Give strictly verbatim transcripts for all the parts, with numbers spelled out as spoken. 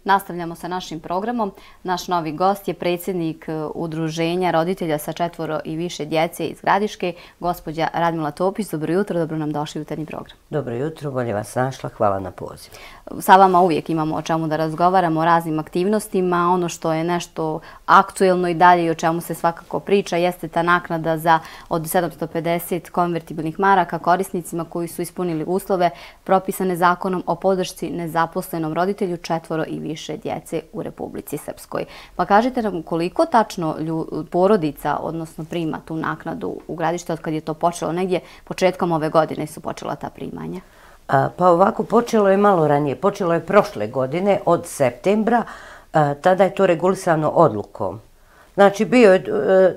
Nastavljamo sa našim programom. Naš novi gost je predsjednik Udruženja roditelja sa četvoro i više djece iz Gradiške, gospođa Radmila Topić. Dobro jutro, dobro nam došli u jutarnji program. Dobro jutro, bolje vas našla, hvala na pozivu. Sa vama uvijek imamo o čemu da razgovaramo, o raznim aktivnostima. Ono što je nešto aktuelno i dalje i o čemu se svakako priča jeste ta naknada za od sedamsto pedeset konvertibilnih maraka korisnicima koji su ispunili uslove propisane zakonom o podršci nezaposlenom roditelju četvoro i više djece u Republici Srpskoj. Pa kažite nam koliko tačno porodica, odnosno prima tu naknadu u Gradište od kad je to počelo, negdje početkom ove godine su počela ta primanja? Pa ovako, počelo je malo ranije, počelo je prošle godine od septembra, tada je to regulisano odlukom. Znači, bio je,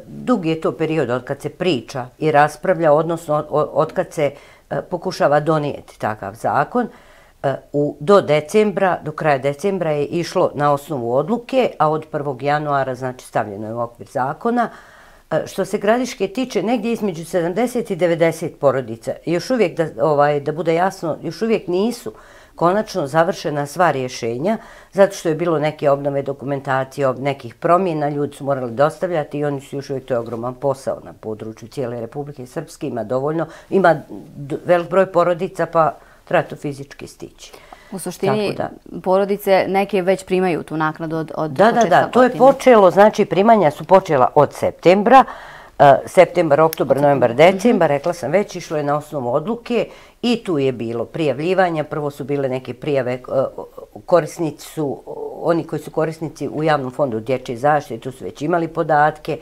dug je to period od kad se priča i raspravlja, odnosno od kad se pokušava donijeti takav zakon. Do decembra, do kraja decembra je išlo na osnovu odluke, a od prvog januara, znači, stavljeno je u okvir zakona. Što se Gradiške tiče, negdje između sedamdeset i devedeset porodica, još uvijek, da, ovaj, da bude jasno, još uvijek nisu konačno završena sva rješenja, zato što je bilo neke obnove dokumentacije, nekih promjena, ljudi su morali dostavljati i oni su još uvijek, to je ogroman posao na području cijele Republike Srpske, ima dovoljno, ima velik broj porodica, pa treba to fizički stići. U suštini, porodice neke već primaju tu naknadu od početka godine. Da, da, da, to je počelo, znači primanja su počela od septembra, septembar, oktobar, novembar, decembar, rekla sam već, išlo je na osnovu odluke i tu je bilo prijavljivanja, prvo su bile neke prijave, korisnici su, oni koji su korisnici u javnom fondu dječje zaštite, tu su već imali podatke,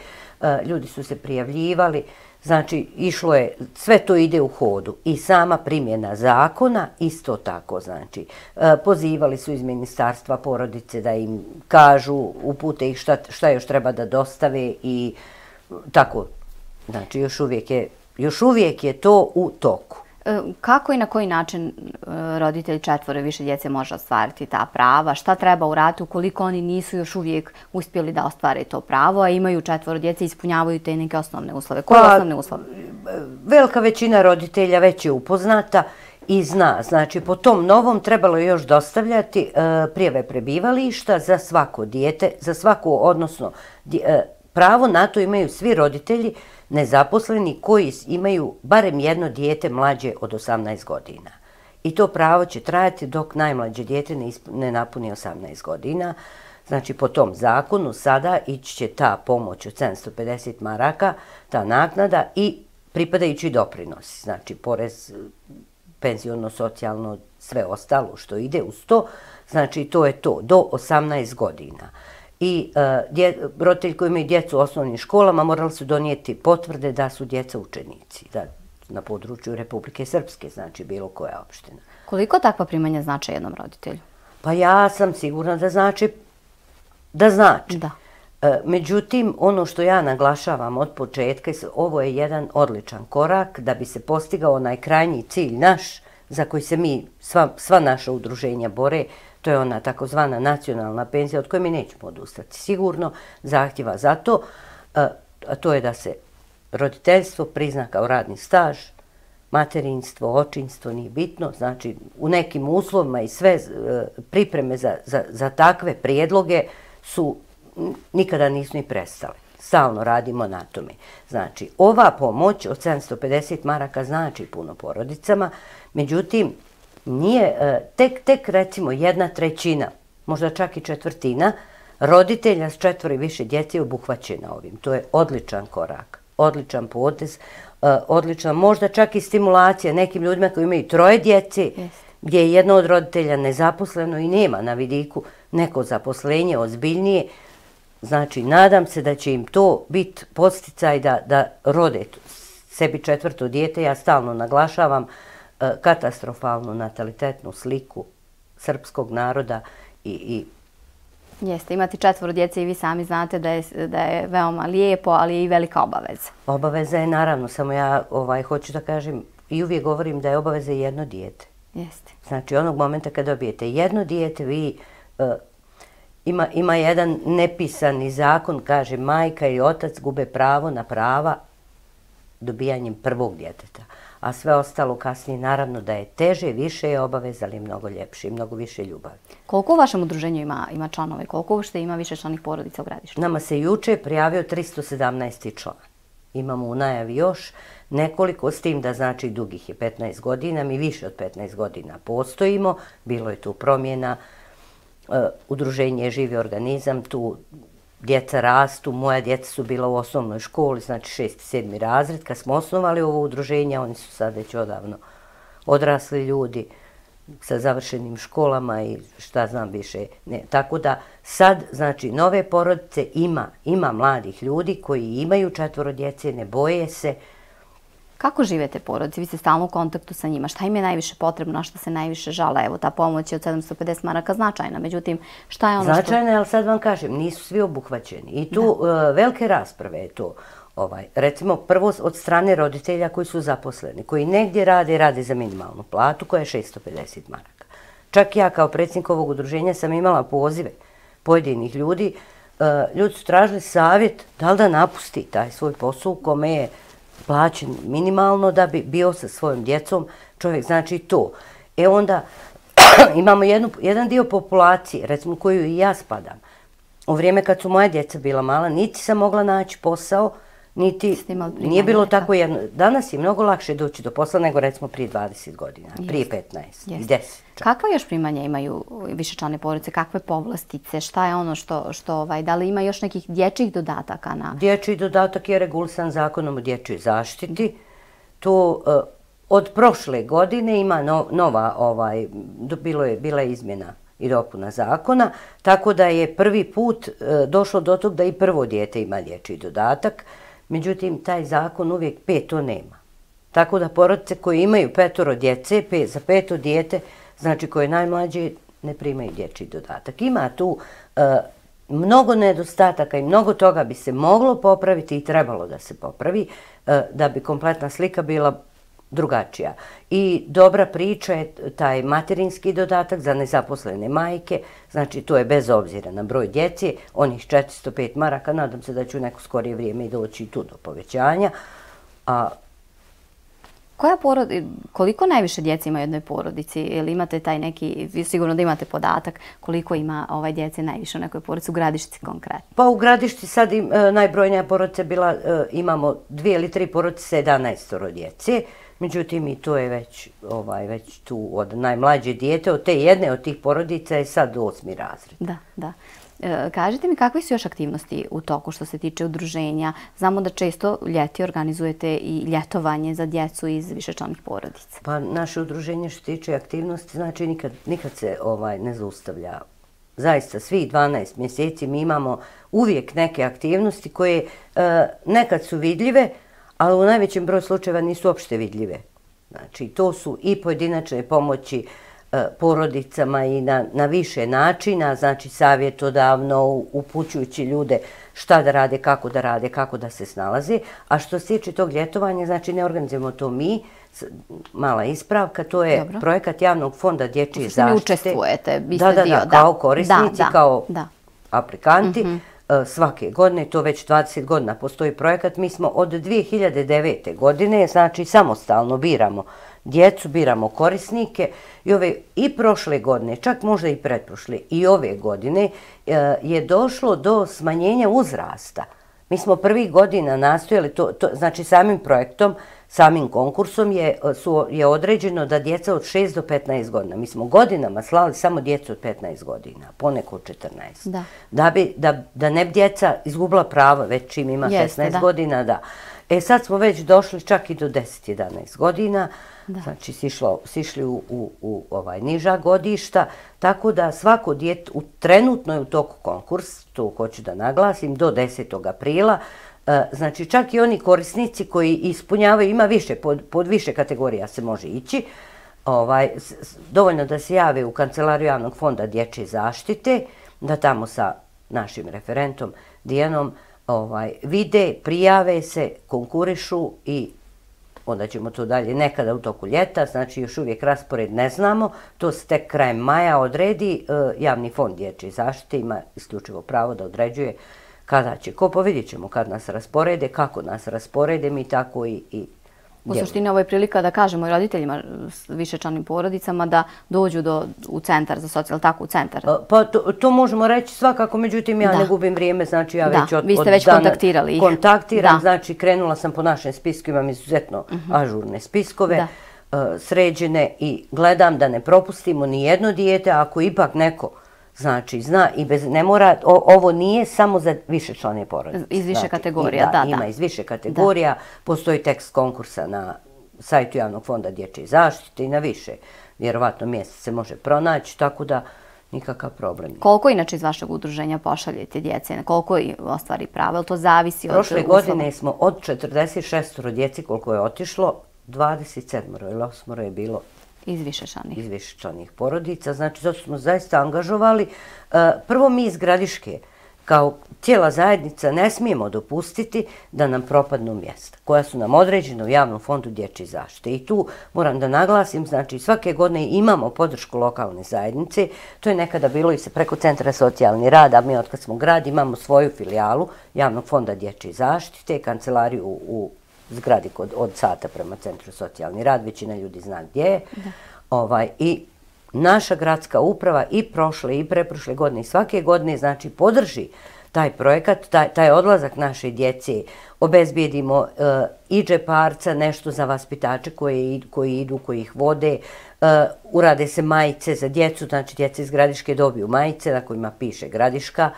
ljudi su se prijavljivali. Znači, išlo je, sve to ide u hodu i sama primjena zakona isto tako, znači, pozivali su iz ministarstva porodice da im kažu, upute ih šta, šta još treba da dostave i tako, znači, još uvijek je, još uvijek je to u toku. Kako i na koji način roditelj četvoro i više djece može ostvariti ta prava? Šta treba uraditi ukoliko oni nisu još uvijek uspjeli da ostvare to pravo, a imaju četvoro djece i ispunjavaju te neke osnovne uslove? Koje pa, osnovne uslove? Velika većina roditelja već je upoznata i zna. Znači, po tom novom trebalo je još dostavljati e, prijave prebivališta za svako dijete, za svaku, odnosno e, pravo na to imaju svi roditelji nezaposleni koji imaju barem jedno dijete mlađe od osamnaest godina. I to pravo će trajati dok najmlađe dijete ne, ne napuni osamnaest godina. Znači, po tom zakonu sada ići će ta pomoć od sedamsto pedeset maraka, ta naknada i pripadajući doprinosi. Znači, porez, penziono, socijalno, sve ostalo što ide uz to. Znači, to je to, do osamnaest godina. I uh, roditelji koji imaju djecu u osnovnim školama morali su donijeti potvrde da su djeca učenici da, na području Republike Srpske, znači bilo koja opština. Koliko takva primanja znače jednom roditelju? Pa ja sam sigurna da znači. Da znači. Da. Uh, međutim, ono što ja naglašavam od početka, ovo je jedan odličan korak da bi se postigao onaj krajnji cilj naš za koji se mi, sva, sva naša udruženja bore. To je ona takozvana nacionalna penzija od koje mi nećemo odustati. Sigurno zahtjeva za to, a to je da se roditeljstvo prizna kao radni staž, materinstvo, očinstvo, nije bitno. Znači, u nekim uslovima i sve pripreme za, za, za takve prijedloge su nikada nisu ni prestale. Stalno radimo na tome. Znači, ova pomoć od sedamsto pedeset maraka znači puno porodicama, međutim, nije, tek, tek recimo jedna trećina, možda čak i četvrtina, roditelja s četvoro i više djece je obuhvaćena ovim. To je odličan korak, odličan potez, odlična, možda čak i stimulacija nekim ljudima koji imaju troje djece, yes. Gdje je jedno od roditelja nezaposleno i nema na vidiku neko zaposlenje ozbiljnije. Znači, nadam se da će im to biti podsticaj da, da rode sebi četvrto dijete. Ja stalno naglašavam katastrofalnu natalitetnu sliku srpskog naroda i, i Jeste, imati četvoro djece i vi sami znate da je, da je veoma lijepo, ali je i velika obaveza. Obaveza je naravno, samo ja ovaj, hoću da kažem i uvijek govorim da je obaveza jedno dijete. Jeste. Znači, onog momenta kad dobijete jedno dijete, vi uh, ima, ima jedan nepisani zakon, kaže majka i otac gube pravo na prava dobijanjem prvog djeteta. a sve ostalo kasnije naravno da je teže, više je obaveza, ali mnogo ljepše i mnogo više ljubavi. Koliko u vašem udruženju ima, ima članove? Koliko uopšte ima više članih porodica u Gradištu? Nama se juče prijavio tristo sedamnaesti član. Imamo u najavi još nekoliko, s tim da znači dugih je petnaest godina, mi više od petnaest godina postojimo, bilo je tu promjena, e, udruženje je živi organizam, tu djeca rastu, moja djeca su bila u osnovnoj školi, znači šesti, sedmi razred, kad smo osnovali ovo udruženje, oni su sad već odavno odrasli ljudi sa završenim školama i šta znam više. Ne. Tako da sad, znači, nove porodice ima, ima mladih ljudi koji imaju četvoro djece, ne boje se. Kako žive te porodice? Vi ste stalno u kontaktu sa njima. Šta im je najviše potrebno, na što se najviše žale? Evo, ta pomoć je od sedamsto pedeset maraka značajna. Međutim, šta je ono što... Značajna je, ali sad vam kažem, nisu svi obuhvaćeni. I tu uh, velike rasprave je to. Ovaj, recimo, prvo od strane roditelja koji su zaposleni, koji negdje rade, rade za minimalnu platu koja je šesto pedeset maraka. Čak ja kao predsjednik ovog udruženja sam imala pozive pojedinih ljudi. Uh, ljudi su tražili savjet da li da napusti taj svoj posao u kome je plaćen minimalno da bi bio sa svojom djecom, čovjek znači to. E onda imamo jednu, jedan dio populacije, recimo koju i ja spadam. U vrijeme kad su moja djeca bila mala, niti sam mogla naći posao, niti nije bilo tako jedno. Danas je mnogo lakše doći do posla nego recimo prije dvadeset godina, jest, prije petnaest i deset. Kakva još primanja imaju višečlane porodice? Kakve povlastice? Šta je ono što, što ovaj, da li ima još nekih dječjih dodataka? Na... Dječji dodatak je regulisan zakonom o dječjoj zaštiti. To uh, od prošle godine ima no, nova, ovaj, bilo je, bila je izmjena i dopuna zakona, tako da je prvi put uh, došlo do tog da i prvo dijete ima dječji dodatak. Međutim, taj zakon uvijek peto nema. Tako da porodice koje imaju petoro djece, pet, za peto dijete, znači koje najmlađe, ne primaju dječji dodatak. Ima tu e, mnogo nedostataka i mnogo toga bi se moglo popraviti i trebalo da se popravi, e, da bi kompletna slika bila drugačija. I dobra priča je taj materinski dodatak za nezaposlene majke, znači to je bez obzira na broj djece, onih četiristo pet maraka, nadam se da ću neko skorije vrijeme i doći tu do povećanja. A Koja porod... Koliko najviše djece ima u jednoj porodici? Ili imate taj neki, vi sigurno da imate podatak koliko ima ovaj djece najviše u nekoj porodici, u Gradišci konkretno? Pa u Gradišci sad im, e, najbrojnija porodica bila, e, imamo dvije ili tri porodice sa jedanaestoro djece. Međutim, i to je već, ovaj, već tu od najmlađe dijete, od te jedne od tih porodica je sad osmi razred. Da, da. E, kažite mi kakve su još aktivnosti u toku što se tiče udruženja? Znamo da često ljeti organizujete i ljetovanje za djecu iz višečlanih porodica. Pa naše udruženje što se tiče aktivnosti, znači nikad, nikad se ovaj, ne zaustavlja. Zaista, svih dvanaest mjeseci mi imamo uvijek neke aktivnosti koje e, nekad su vidljive, ali u najvećem broju slučajeva nisu uopšte vidljive. Znači, to su i pojedinačne pomoći e, porodicama i na, na više načina, znači savjetodavno, upućujući ljude šta da rade, kako da rade, kako da se snalaze. A što se tiče tog ljetovanja, znači ne organizujemo to mi, mala ispravka, to je Dobro. projekat javnog fonda dječje zaštite. Vi učestvujete, vi ste da, da, dio. Da, kao korisnici, da, da, kao da. aplikanti. Mm-hmm. Svake godine, to već dvadeset godina postoji projekat. Mi smo od dvije hiljade devete. godine, znači samostalno biramo djecu, biramo korisnike i ove i prošle godine, čak možda i pretprošle i ove godine je došlo do smanjenja uzrasta. Mi smo prvih godina nastojali, to, to, znači samim projektom, samim konkursom je, su, je određeno da djeca od šest do petnaest godina, mi smo godinama slali samo djecu od petnaest godina, poneko od četrnaest. Da. Da, bi, da, da ne bi djeca izgubila prava već čim ima Jeste, šesnaest da. godina, da. E sad smo već došli čak i do deset jedanaest godina, da. Znači sišlo, sišli u, u, u ovaj niža godišta, tako da svako dijete, u, trenutno je u toku konkurs, to hoću da naglasim, do desetog aprila, e, znači čak i oni korisnici koji ispunjavaju, ima više, pod, pod više kategorija se može ići, ovaj, s, dovoljno da se jave u Kancelariju javnog fonda dječje zaštite, da tamo sa našim referentom Dijanom ovaj, vide, prijave se, konkurišu i onda ćemo to dalje nekada u toku ljeta, znači još uvijek raspored ne znamo, to se tek krajem maja odredi, javni fond dječje zaštite ima isključivo pravo da određuje kada će ko, pa vidjet ćemo kad nas rasporede, kako nas rasporede, mi tako i, i U suštini ovo je prilika da kažemo i roditeljima s višečlanim porodicama da dođu do, u centar za socijalno, tako u centar. Pa to, to možemo reći svakako, međutim ja da. ne gubim vrijeme, znači ja da. već od, Vi ste od već dana kontaktirali ih. kontaktiram, da. znači krenula sam po našem spisku, imam izuzetno uh -huh. ažurne spiskove, da. uh, sređene i gledam da ne propustimo ni jedno dijete, ako ipak neko znači zna i bez, ne mora, o, ovo nije samo za višečlane porodice. Iz više znači, kategorija, da, da, da. Ima iz više kategorija, da. Postoji tekst konkursa na sajtu Javnog fonda dječje zaštite i na više, vjerovatno mjesta se može pronaći, tako da nikakav problem. Koliko inače iz vašeg udruženja pošaljete djece? Koliko ostvari prava? Ili to zavisi od Prošle uslova? godine smo od četrdeset šest djeci koliko je otišlo, dvadeset sedam ili osam je bilo iz višečlanih. Iz višečlanih porodica. Znači, zato smo zaista angažovali. Prvo mi iz Gradiške, kao cijela zajednica, ne smijemo dopustiti da nam propadnu mjesta koja su nam određena u Javnom fondu dječje zaštite. I tu moram da naglasim, znači svake godine imamo podršku lokalne zajednice. To je nekada bilo i se preko Centra socijalni rad, a mi otkad smo grad imamo svoju filijalu Javnog fonda dječje zaštite, kancelariju u zgradi kod, od sata prema Centru socijalni rad, većina ljudi zna gdje je. Ovaj, I naša gradska uprava i prošle i preprošle godine i svake godine znači podrži taj projekat, taj, taj odlazak naše djece, obezbijedimo uh, i džeparca, nešto za vaspitače koji, koji idu, koji ih vode, uh, urade se majice za djecu, znači djeca iz Gradiške dobiju majice na kojima piše Gradiška,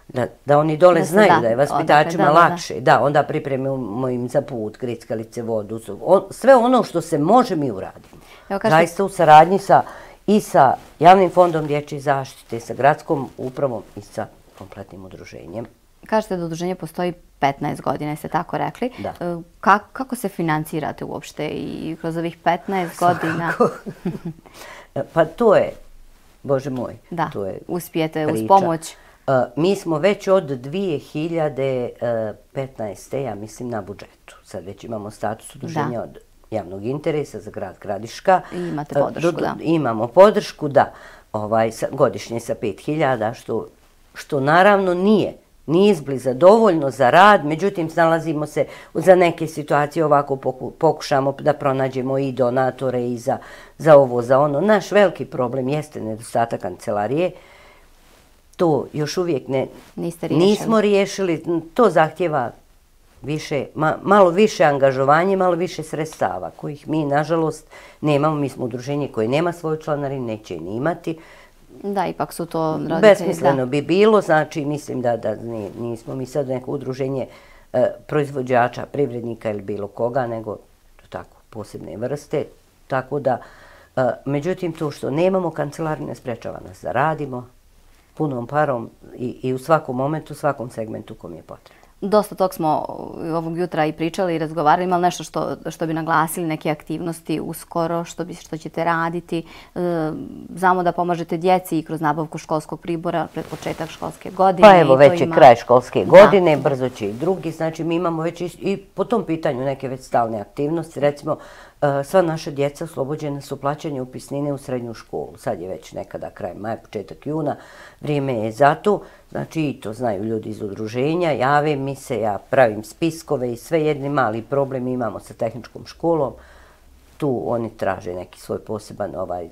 Da, da oni dole da znaju da, da je vaspitačima odakle, da, lakše. Da, da. da, onda pripremimo im za put, grickalice, vodu, on, sve ono što se može mi uradimo. Evo, kažete... Zaista u saradnji sa, i sa Javnim fondom dječje zaštite, sa gradskom upravom i sa kompletnim udruženjem. Kažete da udruženje postoji petnaest godina, jeste tako rekli. Da. Kako, kako se financirate uopšte i kroz ovih petnaest godina? Pa to je, Bože moj, da, to je uspijete priča. Uz pomoć. Uh, mi smo već od dvije hiljade petnaeste. ja mislim na budžetu. Sad već imamo status udruženja da. Od javnog interesa za grad Gradiška. I imate podršku, uh, do, da. Imamo podršku, da. Ovaj, sa, godišnje sa pet hiljada, što, što naravno nije. Nije izbliza dovoljno za rad, međutim snalazimo se za neke situacije ovako poku, pokušamo da pronađemo i donatore i za, za ovo, za ono. Naš veliki problem jeste nedostatak kancelarije. To još uvijek ne, nismo riješili, to zahtjeva više, ma, malo više angažovanje, malo više sredstava kojih mi nažalost nemamo. Mi smo udruženje koje nema svoju članarinu, neće ni imati. Da, ipak su to roditelji. Besmisleno bi bilo, znači mislim da, da nismo mi sad neko udruženje e, proizvođača, privrednika ili bilo koga, nego tako posebne vrste. Tako da, e, međutim to što nemamo kancelariju ne sprečava nas da radimo punom parom i, i u svakom momentu, u svakom segmentu kom je potrebno. Dosta tog smo ovog jutra i pričali i razgovarali. Ima li nešto što, što bi naglasili, neke aktivnosti uskoro, što, bi, što ćete raditi? E, znamo da pomažete djeci i kroz nabavku školskog pribora pred početak školske godine. Pa evo, već je ima... kraj školske godine, da. Brzo će i drugi. Znači, mi imamo već i, i po tom pitanju neke već stalne aktivnosti. Recimo, sva naša djeca oslobođena su plaćanja upisnine u srednju školu. Sad je već nekada kraj maja, početak juna. Vrijeme je za to. Znači, i to znaju ljudi iz udruženja. Jave mi se, ja pravim spiskove i sve jedni mali problem imamo sa tehničkom školom. Tu oni traže neki svoj poseban ovaj...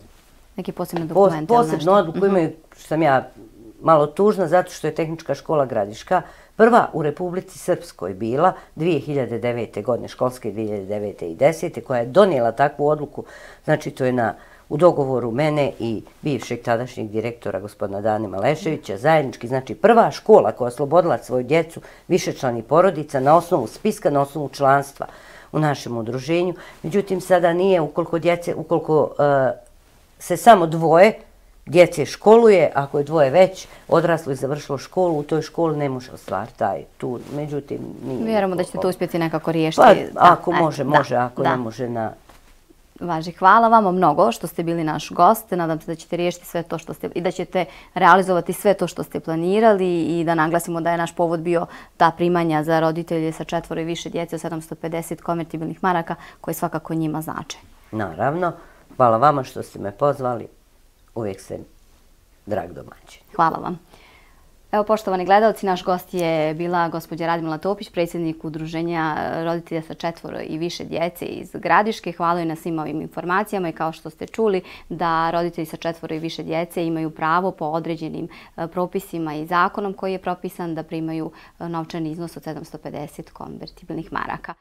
Neki posebni dokument. Posebnu odluku imaju, što sam ja malo tužna, zato što je tehnička škola Gradiška prva u Republici Srpskoj bila dvije hiljade devete. godine, školske dvije hiljade devete. i desete. koja je donijela takvu odluku. Znači, to je na, u dogovoru mene i bivšeg tadašnjeg direktora gospodina Dane Maleševića, zajednički, znači prva škola koja je oslobodila svoju djecu višečlanih porodica na osnovu spiska, na osnovu članstva u našem udruženju. Međutim, sada nije, ukoliko djece, ukoliko uh, se samo dvoje djece školuje, ako je dvoje već odraslo i završilo školu, u toj školi ne može ostvariti taj tu. Međutim, nije... Vjerujemo da ćete to uspjeti nekako riješiti. Pa, ako da, može, može, da, ako da. ne može na... Važi, hvala vama mnogo što ste bili naš gost. Nadam se da ćete riješiti sve to što ste i da ćete realizovati sve to što ste planirali i da naglasimo da je naš povod bio ta primanja za roditelje sa četvoro i više djece od sedamsto pedeset konvertibilnih maraka koje svakako njima znače. Naravno. Hvala vama što ste me pozvali. Uvijek sam drag domaćin. Hvala vam. Evo, poštovani gledalci, naš gost je bila gospođa Radmila Topić, predsjednik Udruženja roditelja sa četvoro i više djece iz Gradiške. Hvala joj na svim ovim informacijama i kao što ste čuli da roditelji sa četvoro i više djece imaju pravo po određenim propisima i zakonom koji je propisan da primaju novčani iznos od sedamsto pedeset konvertibilnih maraka.